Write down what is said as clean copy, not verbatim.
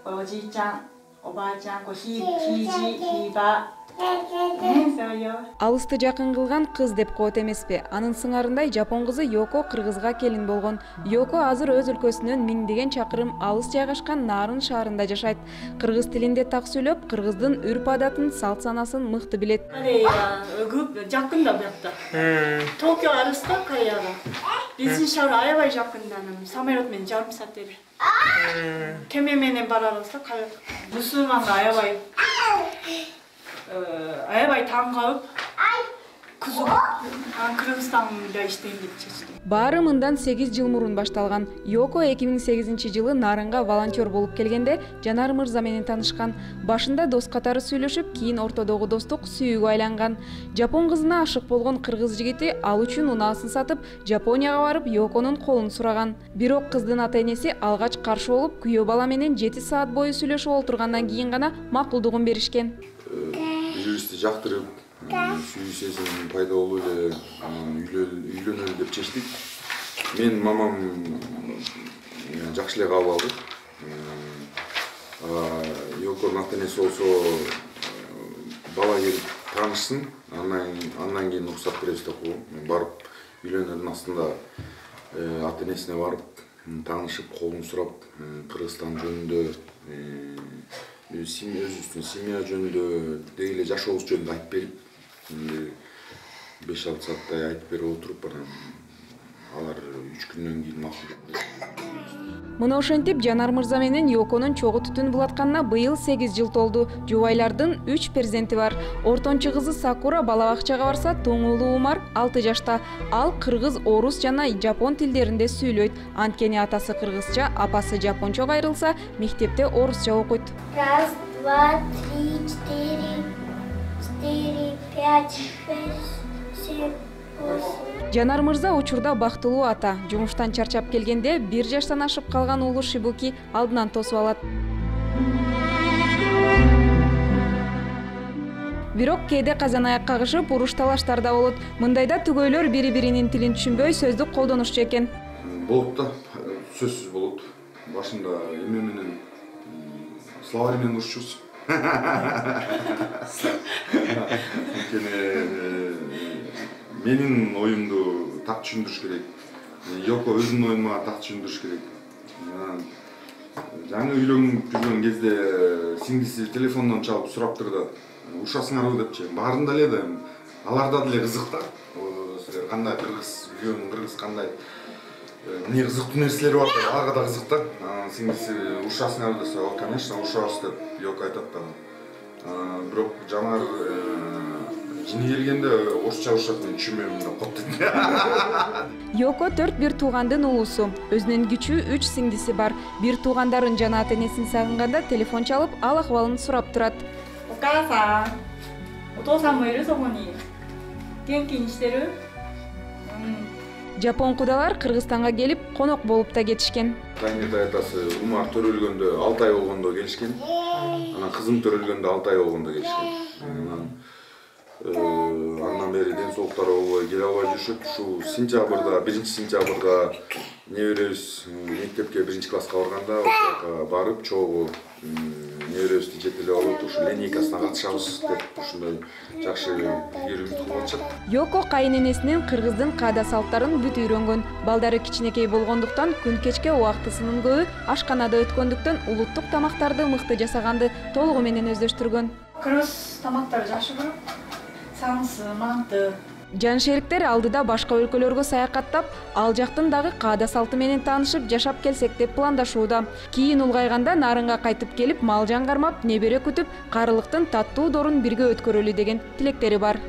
おじいちゃん、おばあちゃん、ひいじ、ひいば。Алысты жакын кылган кыз деп коет эмеспи? Анын сыңарындай жапон кызы Йоко кыргызга келин болгон. Йоко азыр өз өлкөсүнөн миңдеген чакырым алыс жайгашкан Нарын шаарында жашайт. Кыргыз тилинде так сүйлөп, кыргыздын үрп-адатын, салт-санасын мыкты билет. Корея көп жакында буякта. Токио алыста Кореяга. Биздин шаар аябай жакында, самолет менен жарым саат бери. Кеме менен бара алса, мусулманга аябай таң калып, кызыгып, Кыргызстанда иштейм деп чечтим. Баары мындан 8 жыл мурун башталган. Йоко 2008-жылы Нарынга волонтер болуп келгенде Жанар мырза менен танышкан. Башында дос катары сүйлөшүп, кийин ортодогу достук сүйүүгө айланган. Жапон кызына ашык болгон кыргыз жигити ал үчүн унаасын сатып, Жапонияга барып Йоконун колун сураган. Бирок кыздын ата-энеси алгач каршы болуп, күйөө бала менен 7 саат бою сүйлөшүп отургандан кийин гана макулдугун беришкен. Бири-бирибизди жактырып, сүйүүсүн пайда болуу эле үйлөнөлү деп чечтик. Мен мамам жакшы эле кабыл алды. Йоконун ата-энеси болсо бала келип таанышсын, андан кийин уруксат беребиз деп койгон. Барып үйлөнөрдүн астында ата-энесине барып таанышып, колун сурап, Кыргызстан жөнүндө өзүбүздүн семья жөнүндө деги эле жашообуз жөнүндө айтып берип, 5-6 сааттай айтып берип отуруп, анан алар 3 күндөн кийин макул. Мына ошентип Жанар мырза менен Йоконун чогуу түтүн булатканына быйыл 8 жыл толду. Жубайлардын 3 перзенти бар. Ортончу кызы Сакура бала бакчага барса, тоң уулу Умар 6 жашта. Ал кыргыз, орус жана жапон тилдеринде сүйлөйт. Анткени атасы кыргызча, апасы жапончо кайрылса, мектепте орусча окуйт. 1, 2, 3, 4, 5, 6, 7, 8. Жанар мырза учурда бактылуу ата. Жумуштан чарчап келгенде 1 жаштан ашып калган уулу Шибуки алдынан тосуп алат. Бирок кээде казан аяк кагышып, уруш талаштар да болот. Мындайда түгөйлөр бири-биринин тилин түшүнбөй сөздүк колдонушчу экен. Болот да, сөзсүз болот. Башында эме менен словарь менен урушчубуз. Менин оюмду так түшүндүрүш керек. Йоко өзүнүн оюн мага так түшүндүрүш керек. Жаңы үйлөнүп жүргөн кезде сиңдиси телефондон чалып сураптырды. Ушасыңарбы депчи. Баарында эле да, аларда деле кызык да. Силер кандай кыргыз, үйгөн кыргыз кандай эмне кызыктуу нерселери бар деп, ага да кызык да. Сиңдиси ушасыңарбы десе, конечно, ушабыз деп Йоко айтат да. Бирок Жанар жини келгенде орусча урушат, мен түшүнбөйм деп коет. Йоко 4 бир туугандын уулусу. Өзүнүн кичүү 3 сиңдиси бар. Бир туугандарын жана ата-энесин сагынганда телефон чалып, ал акыбалын сурап турат. Окасан, отосан мо ирү согони. Генки иштерү? Жапон кудалар Кыргызстанга келип, конок болуп да кетишкен. Таңерде айтасы Умар төрөлгөндө 6 ай болгондо келишкен. Анан кызым төрөлгөндө 6 ай болгондо келишкен. Андан бери ден соолуктары болбой келе албай жүрүшүп, ушул сентябрда, 1-сентябрда неберебиз мектепке 1-класска барганда ошога барып, чогуу неберебизди жетелеп алып, ушу линейкасына катышабыз деп ушундай жакшы үмүт кылып атышат. Йоко кайынэнесинин кыргыздын каада салттарын бүт үйрөнгөн. Балдары кичинекей болгондуктан күн кечке убактысынын көбү ашканада өткөндүктөн улуттук тамактарды мыкты жасаганды толугу менен өздөштүргөн. Кыргыз тамактары жакшы көрөм. Самсы, манты. Жаншериктер алдыда башка өлкөлөргө саякаттап, ал жактын дагы каада салты менен таанышып жашап келсек деп пландашууда. Кийин улгайганда Нарынга кайтып келип, мал жан кармап, небере күтүп, карылыктын таттуу дорун бирге өткөрөлү деген тилектери бар.